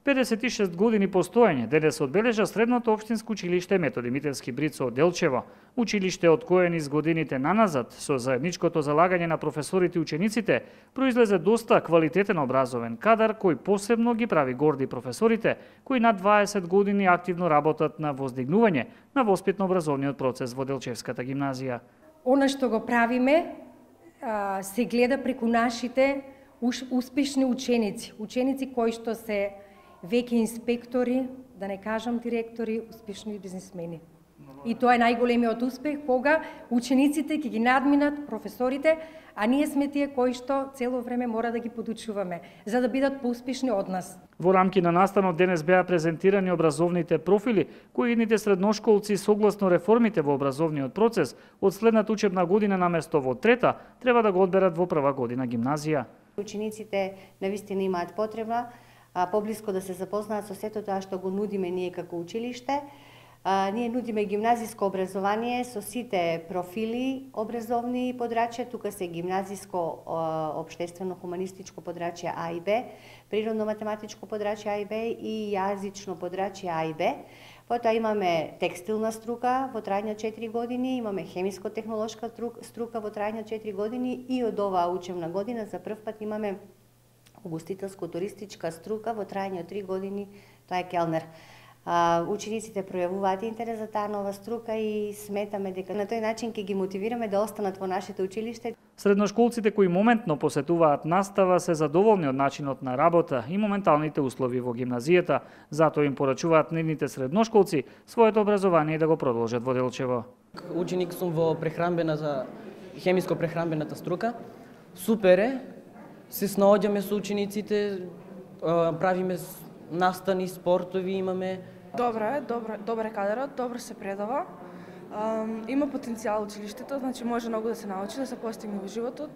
56 години постоење денес одбележа средното општинско училиште Методи Митевски Брицо од Делчево. Училиште од кое низ годините наназад, со заедничкото залагање на професорите и учениците, произлезе доста квалитетен образовен кадар кој посебно ги прави горди професорите, кои над 20 години активно работат на воздигнување на воспитно-образовниот процес во Делчевската гимназија. Она што го правиме се гледа преку нашите успешни ученици, ученици кои што се веќе инспектори, да не кажам директори, успешни бизнисмени. И тоа е најголемиот успех кога учениците ќе ги надминат професорите, а ние сме тие кои што цело време мора да ги подучуваме, за да бидат поуспешни од нас. Во рамки на настанот денес беа презентирани образовните профили кои идните средношколци согласно реформите во образовниот процес од следната учебна година наместо во трета треба да го одберат во прва година гимназија. Учениците навистина имаат потреба поблиско да се запознаат со сето тоа што го нудиме ние како училиште. Ние нудиме гимназиско образование со сите профили образовни подрачја. Тука се гимназиско општествено-хуманистичко подрачје А и Б, природно-математичко подрачје А и Б и јазично подрачје А и Б. Потоа имаме текстилна струка во трајање 4 години, имаме хемиско-технолошка струка во трајање 4 години и од оваа учебна година за прв пат имаме угостителско-туристичка струка во трајање 3 години, тоа е келнер. Учениците пројавуваат интерес за таа нова струка и сметаме дека на тој начин ќе ги мотивираме да останат во нашето училиште. Средношколците кои моментно посетуваат настава се задоволни од начинот на работа и моменталните услови во гимназијата, затоа им порачуваат нивните средношколци своето образование да го продолжат во Делчево. Ученик сум во хемиско-прехранбената струка. Супер е, се снаоѓаме со учениците, правиме настани, спортови имаме. Добар е кадарот, добро се предава. Има потенцијал училиштето, значи може многу да се научи, да се постигне во животот.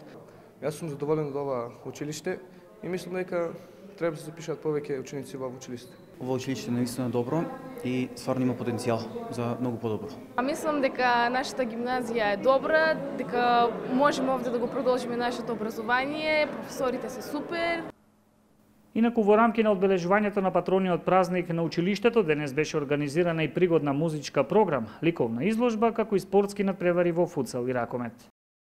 Јас сум задоволен од ова училиште и мислам дека треба да се запишат повеќе ученици во училиште. Ова училиште наистина добро и стварно има потенцијал за многу подобро. Мислам дека нашата гимназија е добра, дека можеме овде да го продолжиме нашето образование, професорите се супер. Инаку во рамки на одбележувањето на патрониот празник на училиштето денес беше организирана и пригодна музичка програма, ликовна изложба како и спортски надпревари во футсал и ракомет.